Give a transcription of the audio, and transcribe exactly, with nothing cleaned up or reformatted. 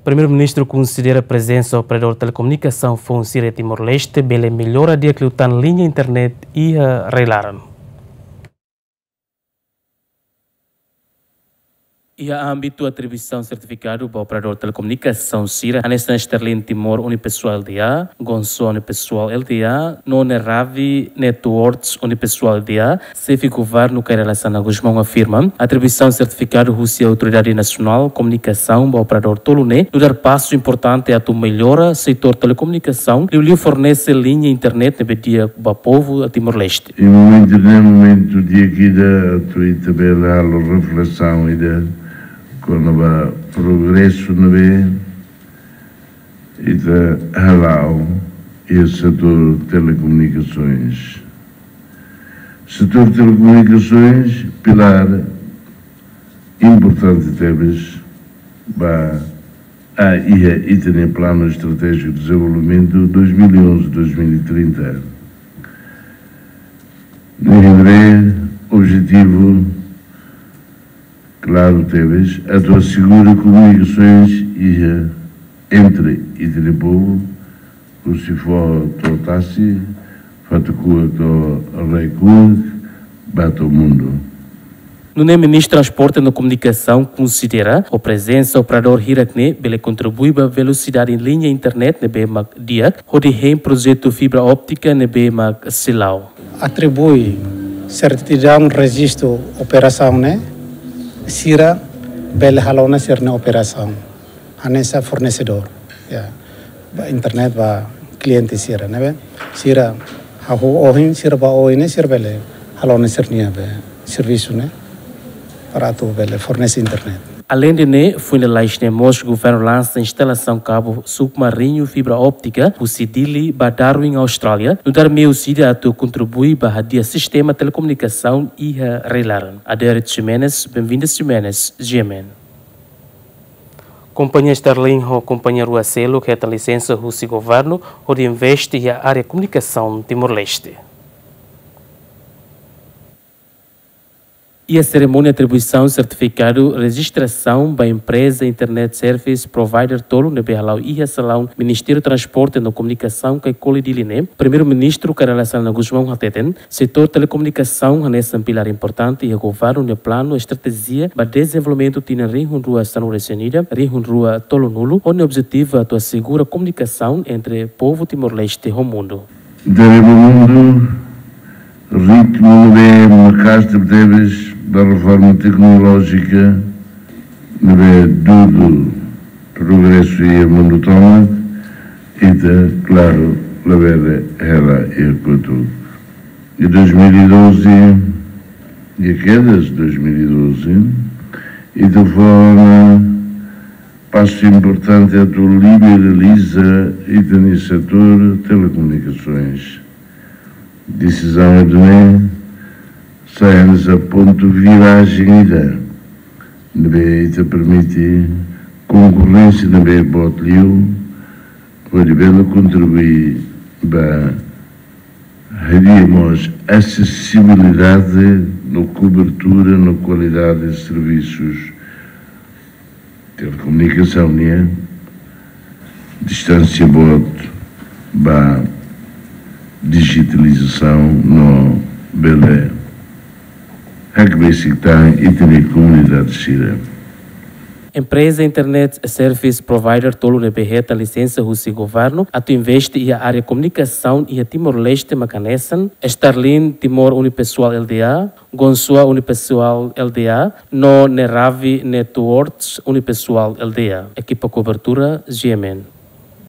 Primeiru-Ministru konsidera prezensa operadór telekomunikasaun foun sira iha Timor-Leste bele mellora di'ak liután liña internet iha rai-laran. Iha ámbitu atribuisaun sertifikadu ba operadór telekomunikasaun sira, hanesan Starlink Timor Unipessoal L T A, Gonsoa Unipessoal L T A, no Neravi Networks Unipessoal L T A, Xefe Governu Kay Rala Xanana Gusmão afirma, atribuisaun sertifikadu husi Autoridade Nasionál Komunikasaun ba operadór tolu ne'e nu'udar pasu importante atu mellora setór telekomunikasaun, liuliu fornese liña internet ne'ebé di'ak ba povu Timor-Leste. Iha momentu ne'e, momentu di'ak ida atu ita bele halo reflesaun ida kona-ba progresu ne'ebé ita hala'o iha setór telekomunikasoens. Setór telekomunikasoens, pilár importante tebes ba iha ita-nia Planu Estratéjiku Dezenvolvimentu dois mil e onze, dois mil e trinta. Ne'ebé objetivu klaru tebes, atu asegura komunikasoens iha entre ita-nia povu, husi foho to'o tasi, Fatukua to'o Raikuak, ba to'o mundu. Nune'e Ministru Transporte no Komunikasaun konsidera, ho prezensa operadór hirak-ne'e bele kontribui ba velosidade liña internet ne'ebé mak di'ak, hodi hein projetu fibra óptika ne'ebé mak seidauk. Atribui sertidaun rejistu operasaun ne'e, sira bele halo ona sira-nia operasaun hanesan fornesedór, ya, ba internet ba kliente sira, ne'ebé sira hahú ohin, sira ba oin ne'e sira bele halo ona sira-nia be servisu ne'e para atu bele fornese internet. Aleinde ne'e, foin lalais ne'e mós governu lansa instalasaun kabu submarinu fibra óptika husi Dili ba Darwin, Austrália, nu'udar meius ida atu kontribui ba hadi'a sistema telekomunikasaun iha rai-laran. Adérito Ximenes, Benvinda Ximenes, G M N. Kompañia Starlink ho kompañia rua seluk hetan lisensa husi governu hodi investe iha área komunikasaun Timor-Leste. Iha serimónia atribuisaun sertifikadu rejistrasaun ba empreza Internet Service Provider tolu ne'ebé hala'o iha salaun Ministériu Transporte no Komunikasaun Caicoli, Dili ne'e, Primeiru-Ministru Kay Rala Xanana Gusmão hateten, setór telekomunikasaun hanesan pilár importante iha governu nia planu estratéjiku ba dezenvolvimentu tinan rihun rua sanulu-resin-ida, rihun rua tolunulu, ho nia objetivu atu asegura komunikasaun entre povu Timor-Leste ho mundu. Dere ba mundu, ritmu ne'ebé maka'as tebetebes ba reforma teknolójika ne'ebé dudu progresu iha mundu tomak, ita, klaru, labele hela iha kotuk. Iha dois mil e doze, iha kedas dois mil e doze, ita fó ona pasu importante atu liberaliza ita-nia setór telekomunikasoens. Desizaun ida-ne'e sai hanesan pontu virajen ida ne'ebé ita permite konkorrénsia ne'ebé boot liu, hodi bele kontribui ba hadi'a mós asesibilidade no kobertura no kualidade servisus telekomunikasaun nian, distánsia boot ba dijitalizasaun no bele hakbesik tan ita-nia komunidade sira. Empreza Internet Service Provider tolu ne'ebé hetan lisensa husi governu atu investe iha área komunikasaun iha Timor-Leste mak hanesan Starlink Timor Unipessoal L T A, Gonsoa Unipessoal L T A, no Neravi Networks Unipessoal L T A. Ekipa kobertura, G M N.